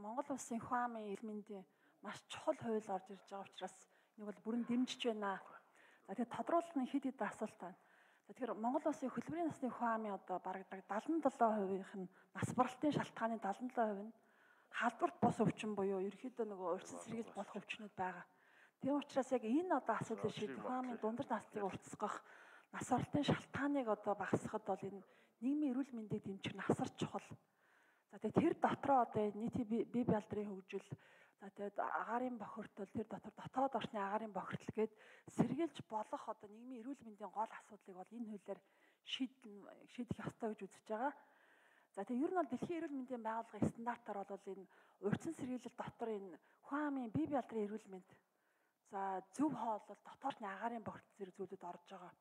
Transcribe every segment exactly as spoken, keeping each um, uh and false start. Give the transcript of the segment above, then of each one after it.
Монгол улсын хүн амын эрүүл мэндийн маш чухал хууль орж ирж байгаа учраас нэг бол бүрэн дэмжиж байна. За тэгээд тодруулах нь хэд хэд асуулт байна. За тэгэхээр Монгол улсын хөдөлмөрийн насны хүн амын одоо бараг дагалдсан хувийнх нь нас баралтын шалтгааны дагалдсан хувь нь халдварт бус өвчин буюу ерөөхдөө нөгөө урьдчилан сэргийлж болох өвчнүүд байгаа. Тийм учраас яг энэ одоо асуудлыг шийдэх хүн амын дундар насныг уртасгах, нас баралтын шалтгааныг одоо багасгахад бол энэ нийгмийн эрүүл мэндийг дэмжих нь асар чухал. За тэгээд тэр дотроо одоо нийтийн бие бэлдрийн хөгжил, за тэгээд агаарын бохирдол, тэр дотор дотоод орчны агаарын бохирдол гээд сэргийлж болох одоо нийгмийн эрүүл мэндийн гол асуудлыг бол энэ хуулиар шийдэн шийдэх ёстой гэж үзэж байгаа. За тэгээд ер нь бол дэлхийн эрүүл мэндийн байгууллагын стандартаар бол энэ урьдчилан сэргийлэл дотор энэ хүн амын бие бэлдрийн эрүүл мэнд, за зөв хооллол, дотоодны агаарын бохирдол зэрэг зүйлүүд орж байгаа.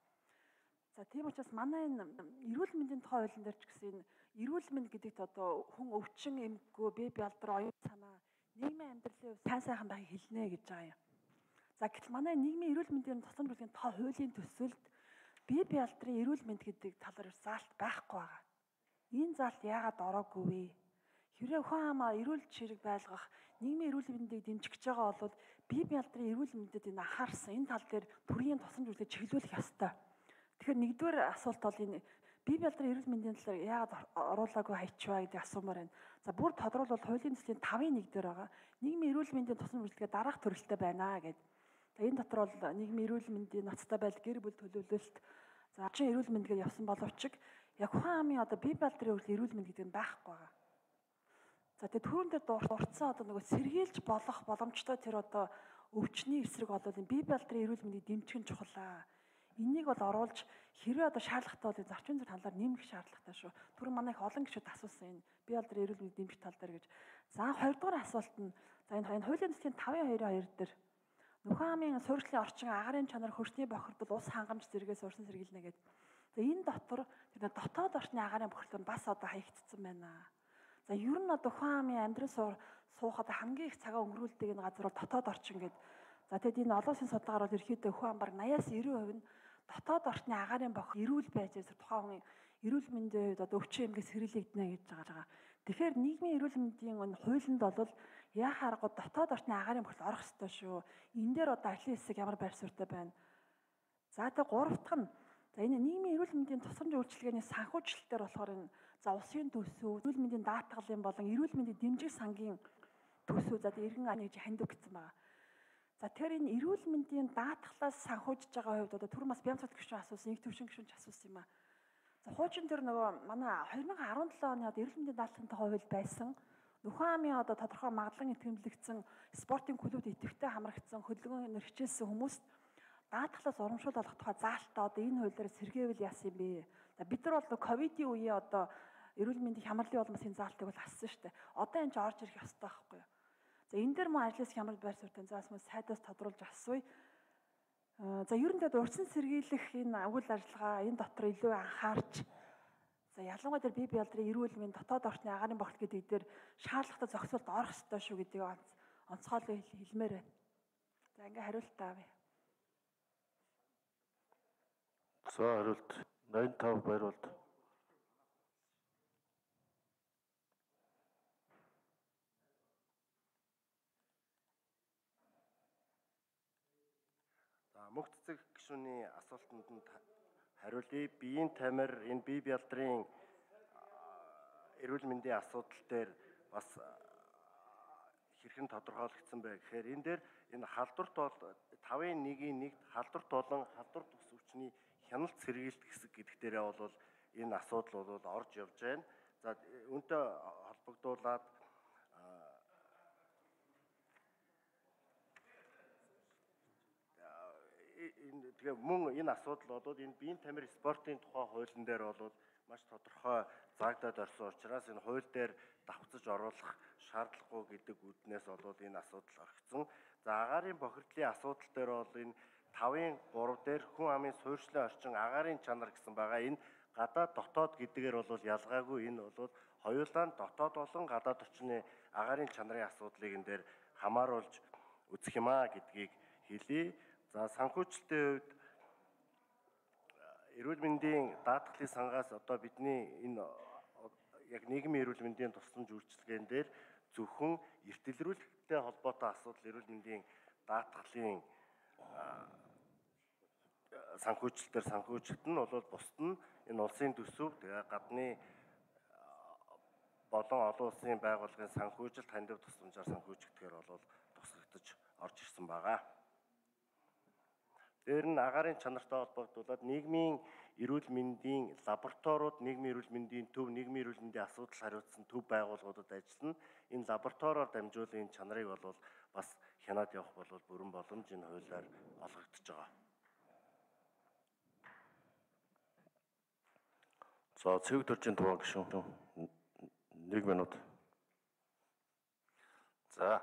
За тийм учраас манай энэ эрүүл мэндийн тухай хуулийн дээр ч гэсэн энэ эрүүл мэнд гэдэгт одоо хүн өвчин эмгэггүй бие бэлдэр оюун санаа нийгмийн амьдралын сайн сайхан байхыг хэлнэ гэж байгаа юм. За гэтэл манай нийгмийн эрүүл мэндийн тусламж бүлгийн тухай хуулийн төсөлд бие бэлдрийн эрүүл мэнд гэдэг талаар заалт байхгүй байгаа. Энэ заалт яагаад ороогүй вэ? Хэрвээ хүн амаа эрүүл чирэг байлгах, нийгмийн эрүүл мэндийг дэмжих гэж байгаа бол бие бэлдрийн эрүүл мэндэд энэ анхаарсан энэ тал дээр төрийн тусламж бүлгийг чиглүүлэх ёстой. Тэгэхээр нэгдүгээр асуулт бол энэ бие бэлдрийн эрүүл мэндийн талаар яагаад оруулаагүй хайчваа гэдэг асуумаар байна. За бүр тодорхойлбол хуулийн төслийн тавын нэг дээр байгаа. Нийгмийн эрүүл мэндийн тусламж үйлчилгээ дараах төрөлтэй байна гэдэг. За энэ дотор бол нийгмийн эрүүл мэндийн ноцтой байдал, гэр бүл төлөвлөлт, за орчин эрүүл мэнд гэж явсан боловч яг хүн амын одоо бие бэлдрийн эрүүл мэнд гэдэг нь байхгүй байгаа. За тэгээд түрүүн дээр дурдсан одоо нөгөө сэргийлж болох боломжтой тэр одоо өвчний эсрэг бол энэ бие бэлдрийн эрүүл мэндийг дэмжих нь чухал. Энийг бол оруулж хэрвээ одоо шаардлагатай бол зарчмын зүйн талаар нэмэх шаардлагатай шүү. Түрүүн манай их олон гишүүд асуусан энэ бие бэлдрийн эрүүл мэндийг дэмжих тал дээр гэж. За хоёрдугаар асуулт нь за энэ энэ хуулийн төслийн тавын хоёрын хоёр дээр нөхөн амын суурьшлын орчин агаарын чанар хөрсний бохирдол ус хангамж зэрэгээс урьдчилан сэргийлнэ гэдэг. За энэ дотор тэр дотоод орчны агаарын бохирдол нь бас одоо хаягдсан байна. За ер нь одоо хүн амын амьдрал суухад хамгийн их цагаа өнгөрүүлдэг энэ газар бол дотоод орчин гэдэг. За тэгэд энэ олон улсын судалгаар бол ерөөхдөө хүн ам баг наяас девять хувь нь дотоод орчны агаарын бохир эрүүл байж байгаа тухайн хүний эрүүл мэндийн хувьд одоо өвчин эмгээс хэрэглэгдэнэ гэж байгаа. Тэгэхээр нийгмийн эрүүл мэндийн энэ хуулинд бол яхаа аргагүй дотоод орчны агаарын бохирдол орох ёстой шүү. Энэ дээр одоо ажлын хэсэг ямар байр суурьтай байна. За тэгээ гурав дахь нь за энэ нийгмийн эрүүл мэндийн тусламж үйлчилгээний санхүүжилтээр болохоор энэ за улсын төсөв, эрүүл мэндийн даатгалын болон эрүүл мэндийн дэмжих сангийн төсөв за иргэн аны гэж хандив гэсэн байна. За тэгэхээр энэ эрүүл мэндийн даатгалаас санхүүжиж байгаа хувьд одоо түрүүн бас Бямцат гишүүн асуусан, их төвшин гишүүн ч асуусан юм аа. За хуучин дээр нөгөө манай две тысячи десять оны одоо эрүүл мэндийн даатгалын тухай хууль байсан. Нөхөн амын одоо тодорхой магадлан итгэмжлэгдсэн спортын клубуд идэвхтэй хамрагдсан хөдөлгөөнөөр хичээлсэн хүмүүст даатгалаас урамшуул олох тухай заалтаа одоо энэ хуулиар сэргээвэл яасан юм бэ? За бид нар бол ковидын үеийн одоо эрүүл мэндийн хямралын улмаас энэ заалтыг бол ассан шүү дээ. Одоо энэ ч орж ирэх ёстой байхгүй юу? За энэ дээр мөн ажлаас хямрал байр суурьтай заас мөн сайдаас тодруулж асууя. За ер нь тэгээд урьдчилан сэргийлэх энэ үйл ажиллагаа энэ дотор илүү анхаарч за ялангуяа тэр бие бэлдрийн эрүүл мэнд дотоод орчны агаарын бохирдол гэдэг дээр шаардлагатай зохицуулт орох ёстой шүү гэдгийг онцгойлон хэлмээр байна. За ингээ хариулт авъя. За хариулт найман тав байруулд. Мөнх цэцэг гишүүний асуултанд нь хариулъя. Биеийн тамир энэ бие бэлдрийн эрүүл мэндийн асуудал дээр бас хэрхэн тодорхойлогдсон бэ гэхээр энэ дээр энэ халдварт бол тавын нэгийн нэгт халдварт болон халдварт ус өвчний хяналт сэргийлт хэсэг гэдэг дээрээ бол энэ асуудал бол орж явж байна. За үүнтэй холбогдуулаад тэгээ мөн энэ асуудал бол энэ биеийн тамир спортын тухай хуулийн дээр бол маш тодорхой заагдаад орсон учраас энэ хууль дээр давхцаж оруулах шаардлагагүй гэдэг үднээс бол энэ асуудал орхисон. За агаарын бохирдлын асуудал дээр бол энэ тавын гурав дээр хүн амын суурьшлын орчин агаарын чанар гэсэн байгаа. Энэ гадаад дотоод гэдгээр бол ялгаагүй энэ бол хоёулаа нь дотоод болон гадаад орчны агаарын чанарын асуудлыг энэ дээр хамааруулж үзэх юм аа гэдгийг хэлье. За санхүүжилтийн хувьд эрүүл мэндийн даатгалын сангаас одоо бидний энэ яг нийгмийн эрүүл мэндийн тусламж үйлчилгээнд дээр зөвхөн эртэлрүүлэлттэй холбоотой асуудал эрүүл мэндийн даатгалын санхүүжилтээр санхүүжилт нь бол бусд нь энэ улсын төсөв тэгээ гадны болон олон улсын байгууллагын санхүүжилт хандив тусламжаар санхүүжигдэхээр бол тусгагдаж орж ирсэн байгаа. Дээр нь агаарын чанартай холбогдуулаад нийгмийн эрүүл мэндийн лабораториуд, нийгмийн эрүүл мэндийн төв, нийгмийн эрүүл мэндийн асуудал хариуцсан төв байгууллагуудад ажиллана. Энэ лабораториор дамжуулан энэ чанарыг бол бас хянаад явах бол бүрэн боломж энэ хуулиар олгогдож байгаа. За цэвэг төржийн тухайн гишүүн нэг минут. За